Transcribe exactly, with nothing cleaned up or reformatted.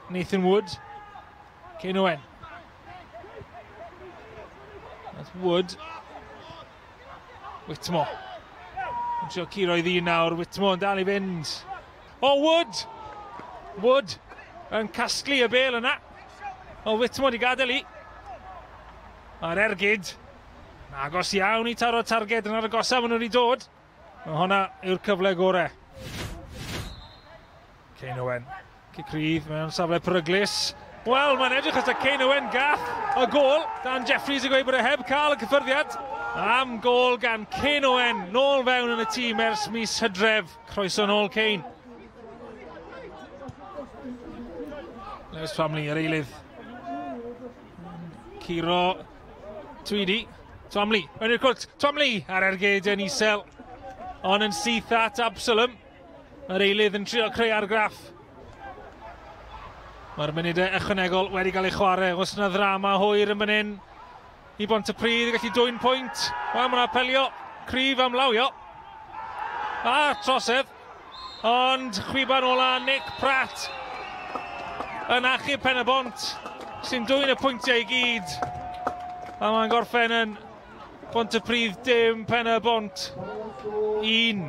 Nathan Wood. Kane Owen. That's Wood. Whitmore. Yn trio curo i ddyn nawr. Whitmore yn dal i fynd. O, Wood! Wood yn casglu y bel yna. O, Whitmore di gadael i. A'r ergyd. Agos iawn i taro targed yn ar y agosaf maen nhw wedi dod. Mae hwnna yw'r cyfle gorau. Kane Owen. Cic rydd mewn safle peryglus. Wel, mae'n edrych os y Kane Owen gath y gôl. Dan Jeffries yn gweud bod e heb cael y cyffyrddiad. Am gôl gan Kane Owen. Nôl fewn yn y tîm ers mis Hydref. Croeso nôl Kane. Lewis Twamley, yr eilydd. Curo Tweedy. Twamley, mewn i'r cwrt. Twamley ar ergyd yn isel. Ond yn syth at Absalom. Yr eilydd yn trio creu argraff. Mae'r munudau ychwanegol wedi cael ei chwarae. Oes yna ddrama hwyr yn fan hyn i Bontypridd i gallu dwyn pwynt. Wel, mae'n apelio cryf am lawio. A trosedd. Ond chwiban ola Nick Pratt yn achub Pen-y-bont sy'n dwyn y pwyntiau i gyd. A mae'n gorffen yn Bontypridd dim, Pen-y-bont un.